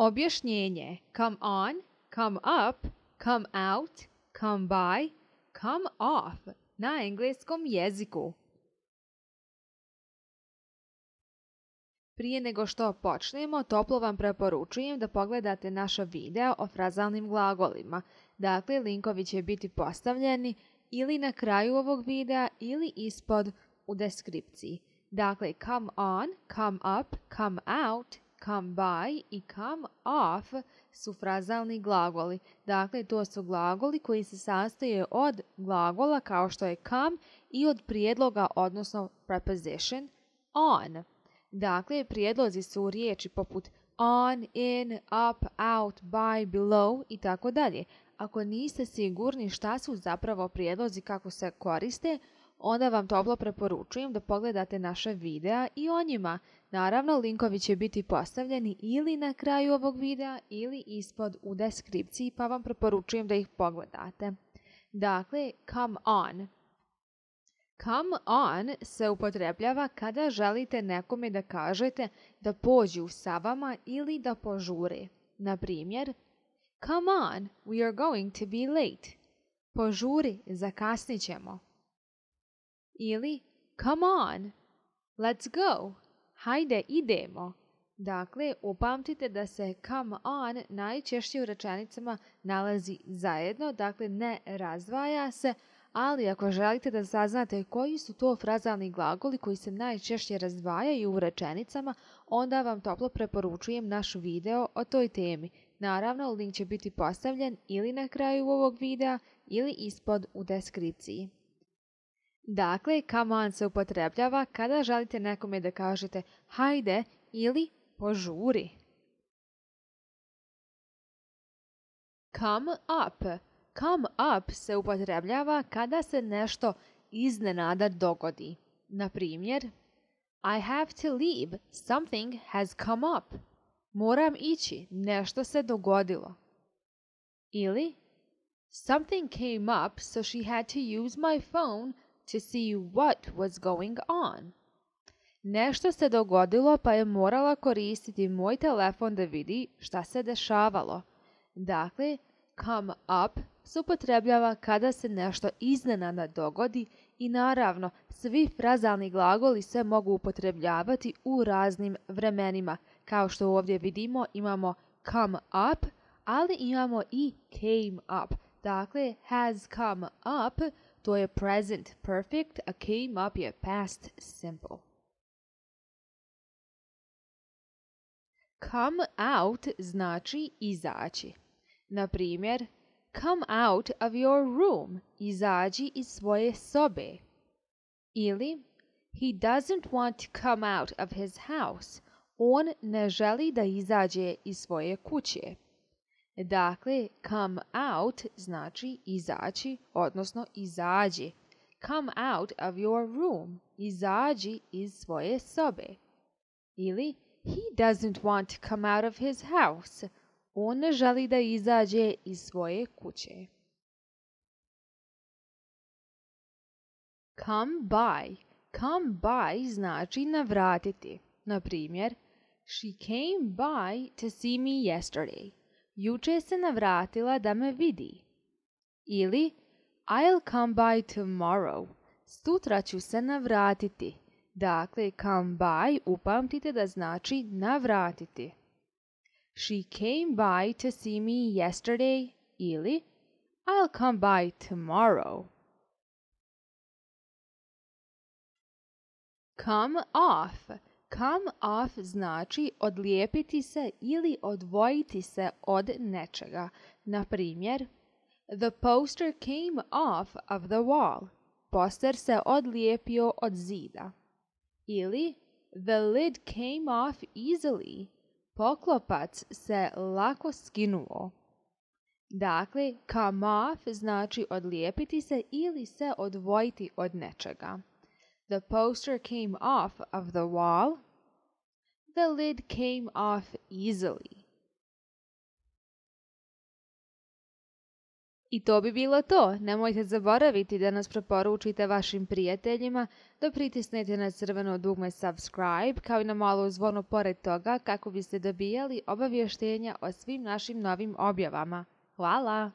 Objašnjenje: come on, come up, come out, come by, come off na engleskom jeziku. Prije nego što počnemo, toplo vam preporučujem da pogledate naša videa o frazalnim glagolima. Dakle, linkovi će biti postavljeni ili na kraju ovog videa ili ispod u deskripciji. Dakle, come on, come up, come out, come by i come off su frazalni glagoli. Dakle, to su glagoli koji se sastoje od glagola kao što je come i od prijedloga, odnosno preposition on. Dakle, prijedlozi su riječi poput on, in, up, out, by, below i tako dalje. Ako niste sigurni šta su zapravo prijedlozi, kako se koriste, onda vam toplo preporučujem da pogledate naše videa i o njima. Naravno, linkovi će biti postavljeni ili na kraju ovog videa ili ispod u deskripciji, pa vam preporučujem da ih pogledate. Dakle, come on. Come on se upotrebljava kada želite nekome da kažete da pođu sa vama ili da požure. Na primjer, come on, we are going to be late. Požuri, zakasnit ćemo. Ili, come on, let's go. Hajde, idemo. Dakle, upamtite da se come on najčešće u rečenicama nalazi zajedno, dakle ne razdvaja se, ali ako želite da saznate koji su to frazalni glagoli koji se najčešće razdvajaju u rečenicama, onda vam toplo preporučujem naš video o toj temi. Naravno, link će biti postavljen ili na kraju ovog videa ili ispod u deskripciji. Dakle, come on se upotrebljava kada želite nekome da kažete hajde ili požuri. Come up. Come up se upotrebljava kada se nešto iznenada dogodi. Na primjer, I have to leave, something has come up. Moram ići, nešto se dogodilo. Ili, something came up, so she had to use my phone to see what was going on. Nešto se dogodilo pa je morala koristiti moj telefon da vidi šta se dešavalo. Dakle, come up se upotrebljava kada se nešto iznenada dogodi i naravno svi frazalni glagoli se mogu upotrebljavati u raznim vremenima. Kao što ovdje vidimo imamo come up, ali imamo i came up. Dakle, has come up, to je present perfect, a came up je past simple. Come out znači izaći. Na primjer, come out of your room, izađi iz svoje sobe. Ili, he doesn't want to come out of his house, on ne želi da izađe iz svoje kuće. Dakle, come out znači izaći, odnosno izađi. Come out of your room, izađi iz svoje sobe. Ili, he doesn't want to come out of his house, on ne želi da izađe iz svoje kuće. Come by. Come by znači navratiti. Na primjer, she came by to see me yesterday. Juče se navratila da me vidi. Ili, I'll come by tomorrow. Sutra ću se navratiti. Dakle, come by upamtite da znači navratiti. She came by to see me yesterday. Ili, I'll come by tomorrow. Come off. Come off znači odlijepiti se ili odvojiti se od nečega. Na primjer, the poster came off of the wall. Poster se odlijepio od zida. Ili, the lid came off easily. Poklopac se lako skinuo. Dakle, come off znači odlijepiti se ili se odvojiti od nečega. The poster came off of the wall. The lid came off easily. I to bi bilo to. Nemojte zaboraviti da nas preporučite vašim prijateljima, da pritisnete na crveno dugme subscribe, kao i na malu zvonu pored toga kako biste dobijali obavještenja o svim našim novim objavama. Hvala!